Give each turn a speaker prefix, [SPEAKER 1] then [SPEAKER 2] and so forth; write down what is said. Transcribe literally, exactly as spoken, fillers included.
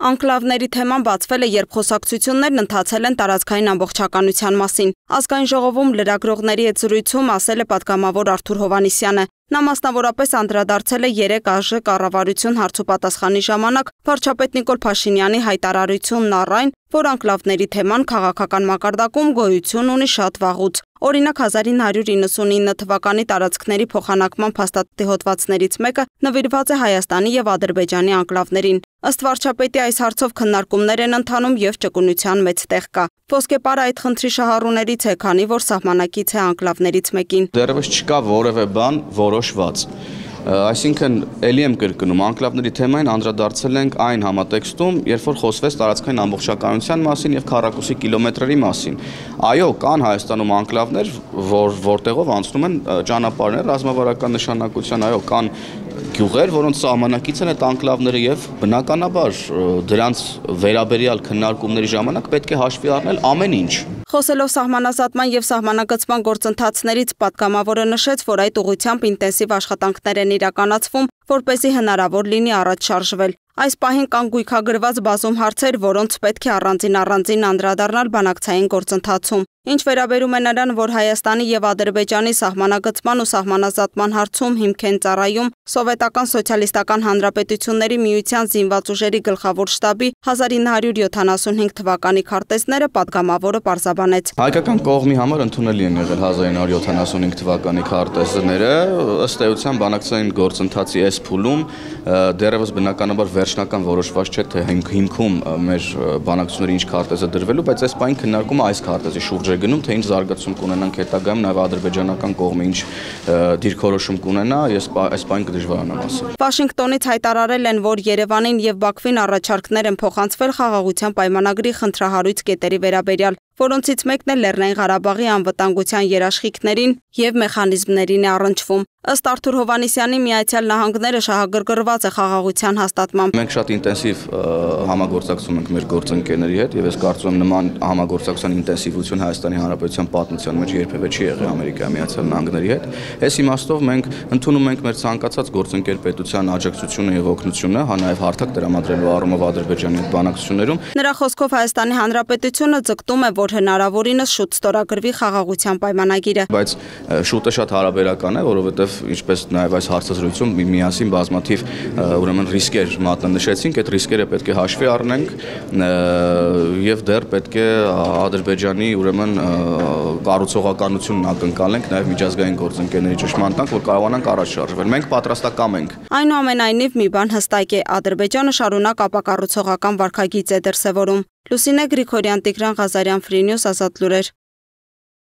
[SPEAKER 1] Անկլավների թեման բացվել է, երբ խոսակցություններն ընթացել են տարածքային ամբողջականության մասին։ Ազգային ժողովում լրագրողների հետ զրույցում ասել է պատգամավոր Արթուր Հովհաննիսյանը։ Նա մասնավորապես անդրադարձել է երեք ԱԺ կառավարություն հարցուպատասխանի ժամանակ վարչապետ Նիկոլ Փաշինյանի հայտարարությունն առ այն, որ անկլավների թեման քաղաքական մակարդակում գոյություն ունի շատ վաղուց։ Օրինակ հազար ինը հարյուր իննսունինը թվականի տարածքների փոխանակման փաստաթղթի հոդվածներից մեկը նվիրված է Հայաստանի եւ Ադրբեջանի անկլավներին։ Ըստ վարչապետի այս հարցով քննարկումներ են ընթանում եւ ճկունության մեծ տեղ կա։ Ոսկեպարը այդ խնդրի շահառուներից է, քանի որ սահմանակից է անկլավներից մեկին։
[SPEAKER 2] Դեռևս չկա որևէ բան որոշված։ Այսինքն էլի եմ կրկնում, անկլավների թեմային անդրադարձել ենք այն համատեքստում, երբ որ խոսվեց տարածքային ամբողջականության մասին եւ քառակուսի կիլոմետրերի մասին։ Այո, կան Հայաստանում անկլավներ, որ որտեղով անցնում են ճանապարհներ ռազմավարական նշանակության, այո, կան գյուղեր, որոնց սահմանակից են այդ անկլավները եւ բնականաբար դրանց վերաբերյալ քննարկումների ժամանակ պետք է հաշվի առնել ամեն ինչ։
[SPEAKER 1] Խոսելով սահմանազատման եւ սահմանագծման գործընթացներից պատգամավորը նշեց, որ այդ ուղղությամբ ինտենսիվ աշխատանքներ են իրականացվում, որպեսզի հնարավոր լինի առաջ շարժվել։ Այս պահին կան գույքագրված բազում հարցեր, որոնց պետք է առանձին առանձին անդրադառնալ բանակցային գործընթացում։ Ինչ վերաբերում է նրան, որ Հայաստանի եւ Ադրբեջանի սահմանագծման ու սահմանազատման հարցում հիմք են ծառայում Սովետական Սոցիալիստական Հանրապետությունների Միության զինված ուժերի գլխավոր շտաբի հազար ինը հարյուր յոթանասունհինգ թվականի քարտեզները, պատգամավորը պարզաբանեց։
[SPEAKER 2] Հայկական կողմի համար ընդունելի են եղել հազար ինը հարյուր յոթանասունհինգ թվականի քարտեզները, ըստ էության բանակցային գործընթացի այս փուլում դեռևս բնականաբար վերջնական որոշված չէ, թե հիմքում մեր բանակցությունների ինչ քարտեզ է դրվելու, բայց այս պահին քննարկումը այս քարտեզի շուրջ է գնում, թե ինչ զարգացում կունենանք հետագայում, նաև ադրբեջանական կողմը ինչ դիրքորոշում կունենա, ես այս պահին կդժվարանամ ասել։
[SPEAKER 1] Վաշինգտոնից հայտարարել են, որ Երևանին եւ Բաքվին առաջարկներ են փոխանցվել խաղաղության պայմանագրի խնդրահարույց կետերի վերաբերյալ, որոնցից մեկն է Լեռնային Ղարաբաղի անվտանգության երաշխիքներին եւ մեխանիզմներին է առնչվում։ Ըստ Արթուր Հովհաննիսյանի, Միացյալ Նահանգները շահագրգռված է խաղաղության հաստատմամբ։
[SPEAKER 2] Մենք շատ ինտենսիվ համագործակցում ենք մեր գործընկերների հետ եւ ես կարծում եմ նման համագործակցության ինտենսիվություն Հայաստանի Հանրապետության պատմության մեջ երբևէ չի եղել Ամերիկայի Միացյալ Նահանգների հետ։ Այս իմաստով մենք ընդունում ենք մեր ցանկացած գործընկեր պետության աջակցությունը եւ օգնությունը, հա նաեւ հարթակ տրամադրելու առումով Ադրբեջանի հետ բանակցություններում։
[SPEAKER 1] Նրա խոսքով Հայաստանի Հանրապետությունը ձգտում է, որ հնարավորինս շուտ ստորագրվի խաղաղության պայմանագիրը։
[SPEAKER 2] Բայց շուտը շատ հարաբերական է, որովհետեւ ինչպես նաև այս հարցազրույցում միասին բազմաթիվ ուրեմն ռիսկեր մատնանշեցինք, այդ ռիսկերը պետք է հաշվի առնենք եւ դեռ պետք է Ադրբեջանի ուրեմն կառուցողականությունն ակնկալենք նաև միջազգային գործընկերների ճշմարտ տանք, որ կարողանանք առաջ շարժվել։ Մենք պատրաստակամ ենք։
[SPEAKER 1] Այնուամենայնիվ մի բան հստակ է, Ադրբեջանը շարունակ ապակառուցողական վարքագիծ է դրսևորում։ Լուսինե Գրիգորյան, Տիգրան Ղազարյան, Free News, Ազատ լուրեր։